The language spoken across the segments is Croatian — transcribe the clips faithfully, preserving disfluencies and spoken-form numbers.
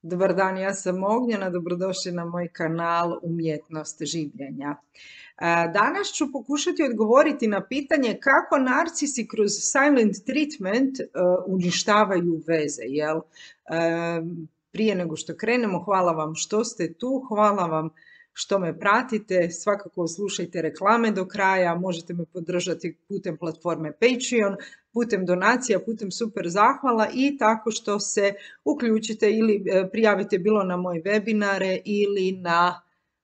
Dobar dan, ja sam Ognjena, dobrodošli na moj kanal Umjetnost življenja. Danas ću pokušati odgovoriti na pitanje kako narcisi kroz silent treatment uništavaju veze. Jel? Prije nego što krenemo, hvala vam što ste tu, hvala vam što me pratite, svakako slušajte reklame do kraja, možete me podržati putem platforme Patreon, putem donacija, putem super zahvala i tako što se uključite ili prijavite bilo na moje webinare ili na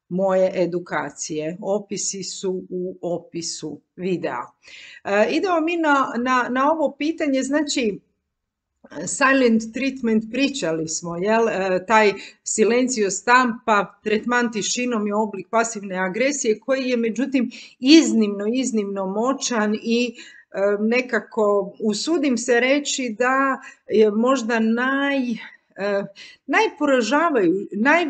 moje edukacije. Opisi su u opisu videa. E, idemo mi na, na, na ovo pitanje, znači silent treatment pričali smo, jel? E, taj silencio stampa, tretman tišinom je oblik pasivne agresije koji je međutim iznimno, iznimno moćan i e, nekako usudim se reći da je možda naj, e, najporažavaju, naj,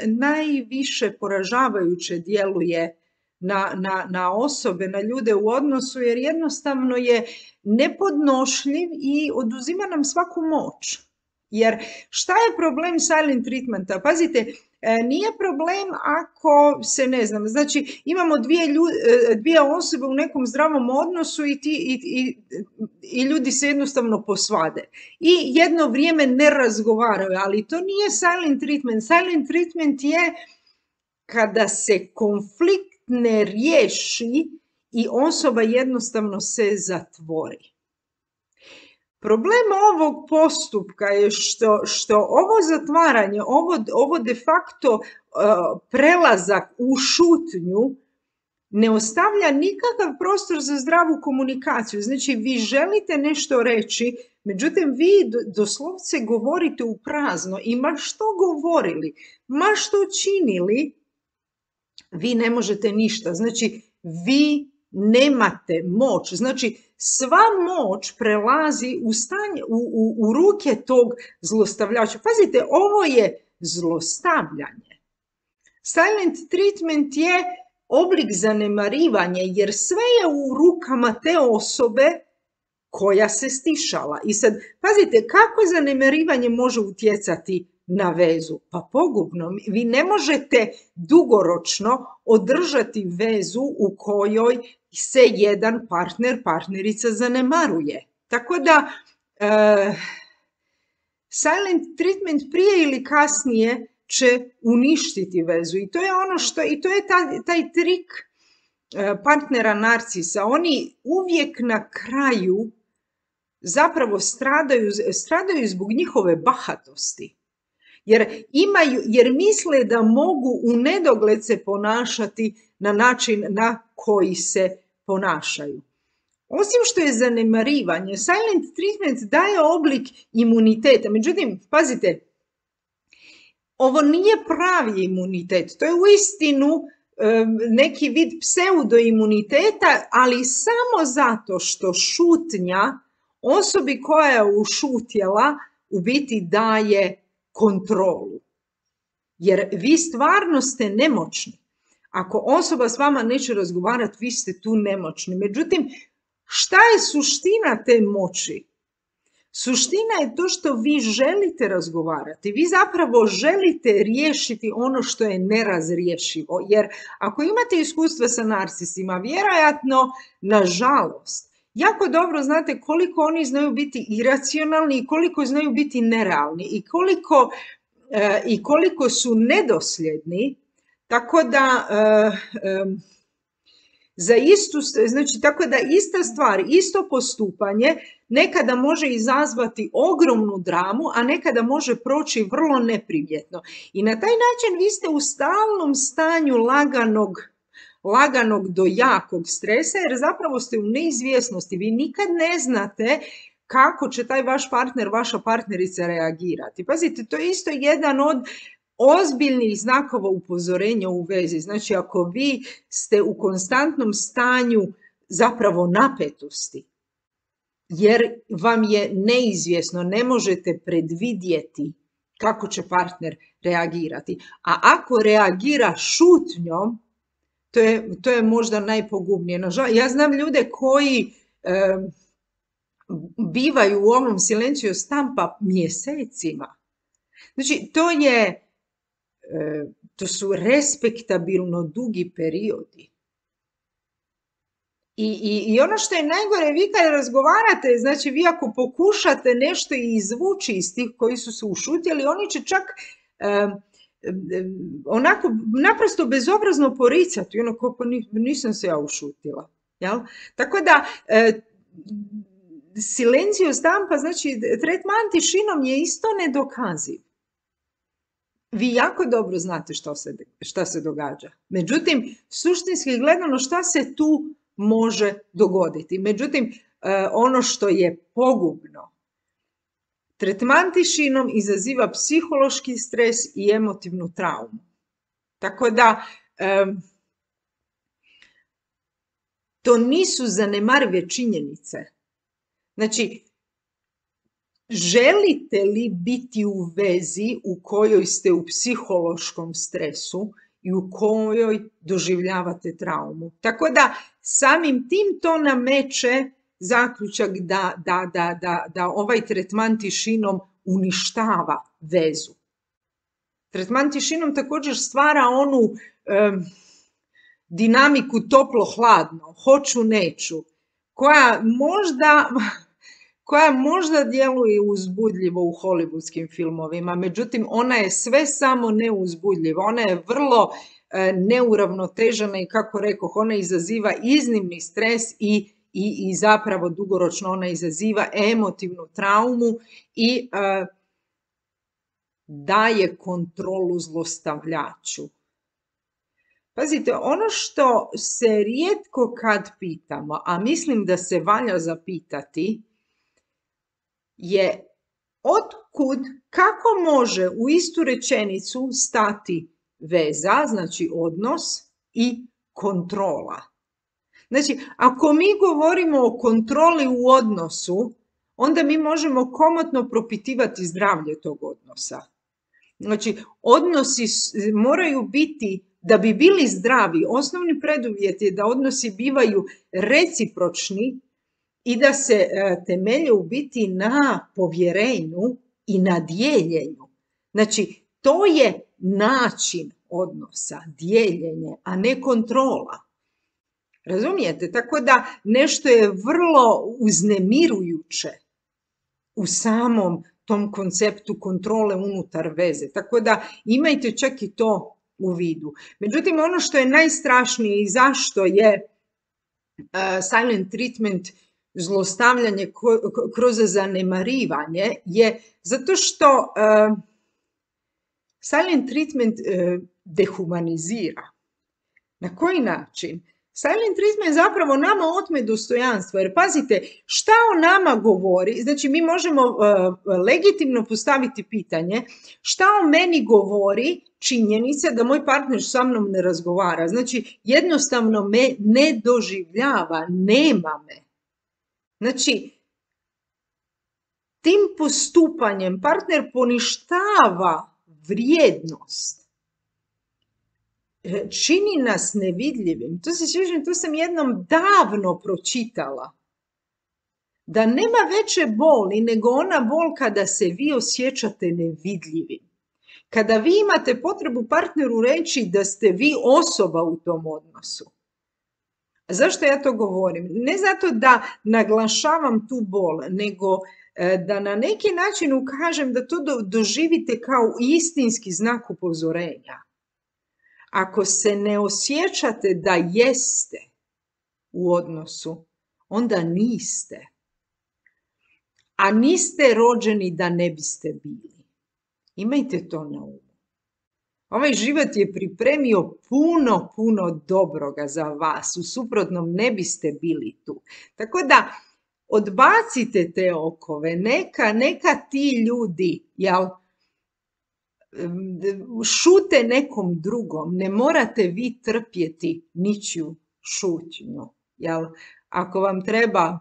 najviše poražavajuće djeluje Na, na, na osobe, na ljude u odnosu, jer jednostavno je nepodnošljiv i oduzima nam svaku moć. Jer šta je problem silent treatmenta? Pazite, nije problem ako se ne znam, znači imamo dvije, ljudi, dvije osobe u nekom zdravom odnosu i, ti, i, i, i ljudi se jednostavno posvade. I jedno vrijeme ne razgovaraju, ali to nije silent treatment. Silent treatment je kada se konflikt ne riješi i osoba jednostavno se zatvori. Problem ovog postupka je što, što ovo zatvaranje, ovo, ovo de facto uh, prelazak u šutnju ne ostavlja nikakav prostor za zdravu komunikaciju. Znači vi želite nešto reći, međutim vi doslovce govorite u prazno i ma što govorili, ma što činili, vi ne možete ništa, znači vi nemate moć, znači sva moć prelazi u, stanje, u, u, u ruke tog zlostavljača. Pazite, ovo je zlostavljanje. Silent treatment je oblik zanemarivanja jer sve je u rukama te osobe koja se stišala. I sad, pazite, kako zanemarivanje može utjecati na vezu? Pa pogubno. Vi ne možete dugoročno održati vezu u kojoj se jedan partner, partnerica zanemaruje. Tako da e, silent treatment prije ili kasnije će uništiti vezu. I to je ono što, i to je taj, taj trik partnera narcisa. Oni uvijek na kraju zapravo stradaju, stradaju zbog njihove bahatosti. Jer, imaju, jer misle da mogu u nedogled se ponašati na način na koji se ponašaju. Osim što je zanemarivanje, silent treatment daje oblik imuniteta. Međutim, pazite, ovo nije pravi imunitet. To je uistinu um, neki vid pseudoimuniteta, ali samo zato što šutnja osobi koja je ušutjela u biti daje kontrolu. Jer vi stvarno ste nemoćni. Ako osoba s vama neće razgovarati, vi ste tu nemoćni. Međutim, šta je suština te moći? Suština je to što vi želite razgovarati. Vi zapravo želite riješiti ono što je nerazriješivo. Jer ako imate iskustva sa narcisima, vjerojatno, nažalost, jako dobro znate koliko oni znaju biti iracionalni i koliko znaju biti nerealni i koliko, e, i koliko su nedosljedni, tako da e, e, za istu, znači tako da ista stvar, isto postupanje nekada može izazvati ogromnu dramu, a nekada može proći vrlo neprimjetno. I na taj način vi ste u stalnom stanju laganog laganog do jakog stresa, jer zapravo ste u neizvjesnosti. Vi nikad ne znate kako će taj vaš partner, vaša partnerica reagirati. Pazite, to je isto jedan od ozbiljnih znakova upozorenja u vezi. Znači, ako vi ste u konstantnom stanju zapravo napetosti, jer vam je neizvjesno, ne možete predvidjeti kako će partner reagirati. A ako reagira šutnjom, To je, to je možda najpogubnije. Ja znam ljude koji e, bivaju u ovom silenciju stampa mjesecima. Znači, to je, to su respektabilno dugi periodi. I, i, I ono što je najgore, vi kad razgovarate, znači vi ako pokušate nešto izvući iz tih koji su se ušutjeli, oni će čak um, onako naprosto bezobrazno poricati, ono kako nisam se ja ušutila. Jel? Tako da, e, silencio stampa, znači tretman tišinom je isto nedokaziv. Vi jako dobro znate što se, šta se događa. Međutim, suštinski gledano šta se tu može dogoditi. Međutim, ono što je pogubno, tretman tišinom izaziva psihološki stres i emotivnu traumu. Tako da, to nisu zanemarive činjenice. Znači, želite li biti u vezi u kojoj ste u psihološkom stresu i u kojoj doživljavate traumu? Tako da samim tim to nameće zaključak da, da, da, da, da ovaj tretman tišinom uništava vezu. Tretman tišinom također stvara onu um, dinamiku toplo-hladno, hoću-neću, koja možda... koja možda djeluje uzbudljivo u hollywoodskim filmovima, međutim ona je sve samo neuzbudljiva, ona je vrlo e, neuravnotežena i kako rekoh, ona izaziva iznimni stres i, i, i zapravo dugoročno ona izaziva emotivnu traumu i e, daje kontrolu zlostavljaču. Pazite, ono što se rijetko kad pitamo, a mislim da se valja zapitati, je otkud, kako može u istu rečenicu stati veza, znači odnos i kontrola. Znači, ako mi govorimo o kontroli u odnosu, onda mi možemo komotno propitivati zdravlje tog odnosa. Znači, odnosi moraju biti, da bi bili zdravi, osnovni preduvjet je da odnosi bivaju recipročni, i da se temelje u biti na povjerenju i na dijeljenju. Znači, to je način odnosa, dijeljenje, a ne kontrola. Razumijete? Tako da nešto je vrlo uznemirujuće u samom tom konceptu kontrole unutar veze. Tako da imajte čak i to u vidu. Međutim, ono što je najstrašnije i zašto je uh, silent treatment zlostavljanje kroz zanemarivanje je zato što uh, silent treatment uh, dehumanizira. Na koji način? Silent treatment zapravo nama otme dostojanstvo, jer pazite, šta o nama govori, znači mi možemo uh, legitimno postaviti pitanje, šta o meni govori činjenica da moj partner sa mnom ne razgovara, znači jednostavno me ne doživljava, nema me. Znači, tim postupanjem partner poništava vrijednost, čini nas nevidljivim. To se sjećam, to sam jednom davno pročitala. Da nema veće boli nego ona bol kada se vi osjećate nevidljivim. Kada vi imate potrebu partneru reći da ste vi osoba u tom odnosu. Zašto ja to govorim? Ne zato da naglašavam tu bol, nego da na neki način ukažem da to doživite kao istinski znak upozorenja. Ako se ne osjećate da jeste u odnosu, onda niste. A niste rođeni da ne biste bili. Imajte to na umu. Ovaj život je pripremio puno, puno dobroga za vas. U suprotnom ne biste bili tu. Tako da odbacite te okove. Neka, neka ti ljudi, jel, šute nekom drugom. Ne morate vi trpjeti ničiju šutnju. Jel? Ako vam treba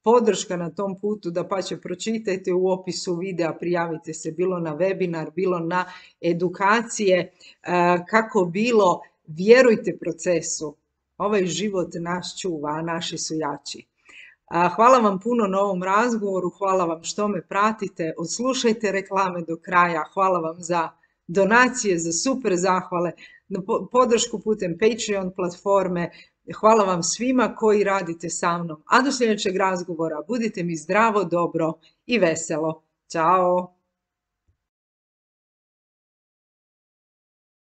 podrška na tom putu, da pa će pročitajte u opisu videa, prijavite se bilo na webinar, bilo na edukacije, kako bilo, vjerujte procesu. Ovaj život nas čuva, a naši su jači. Hvala vam puno na ovom razgovoru, hvala vam što me pratite, odslušajte reklame do kraja, hvala vam za donacije, za super zahvale, na podršku putem Patreon platforme. Hvala vam svima koji radite sa mnom. A do sljedećeg razgovora budite mi zdravo, dobro i veselo. Ćao!